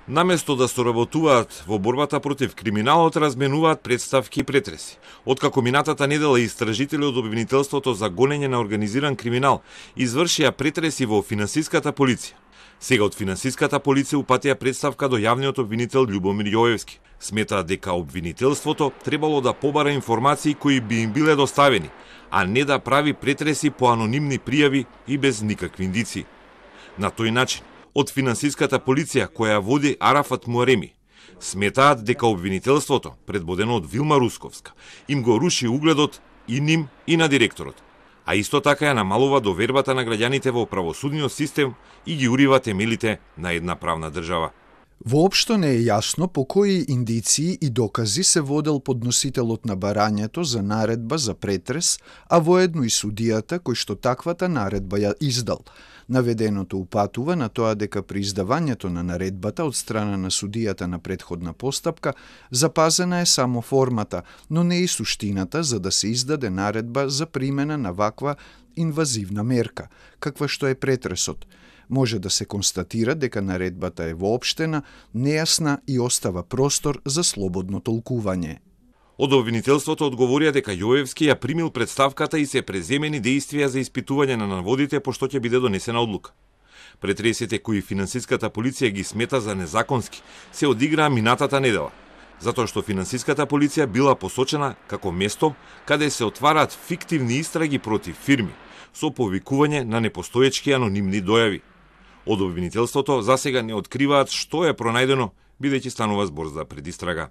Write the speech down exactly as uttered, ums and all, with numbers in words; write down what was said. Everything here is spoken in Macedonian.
Наместо да соработуваат во борбата против криминалот, разменуваат представки и претреси. Откако минатата недела истражители од обвинителството за гонење на организиран криминал извршија претреси во финансиската полиција, сега од финансиската полиција упатија представка до јавниот обвинител Љубомир Јоевски. Сметаат дека обвинителството требало да побара информации кои би им биле доставени, а не да прави претреси по анонимни пријави и без никакви индиции. На тој начин, од финансиската полиција која води Арафат Муареми, сметаат дека обвинителството, предводено од Вилма Русковска, им го руши угледот и ним и на директорот, а исто така ја намалува довербата на граѓаните во правосудниот систем и ги урива темелите на една правна држава. Воопшто не е јасно по кои индиции и докази се водел подносителот на барањето за наредба за претрес, а воедно и судијата кој што таквата наредба ја издал. Наведеното упатува на тоа дека при издавањето на наредбата од страна на судијата на претходна постапка запазена е само формата, но не и суштината за да се издаде наредба за примена на ваква инвазивна мерка, каква што е претресот. Може да се констатира дека наредбата е воопштена, нејасна и остава простор за слободно толкување. Од обвинителството одговорија дека Јоевски ја примил представката и се преземени дејствија за испитување на наводите пошто ќе биде донесена одлука. Претресите кои финансиската полиција ги смета за незаконски се одиграа минатата недела, затоа што финансиската полиција била посочена како место каде се отвараат фиктивни истраги против фирми со повикување на непостоечки анонимни дојави. Од обвинителството засега не откриваат што е пронајдено, бидејќи станува збор за предистрага.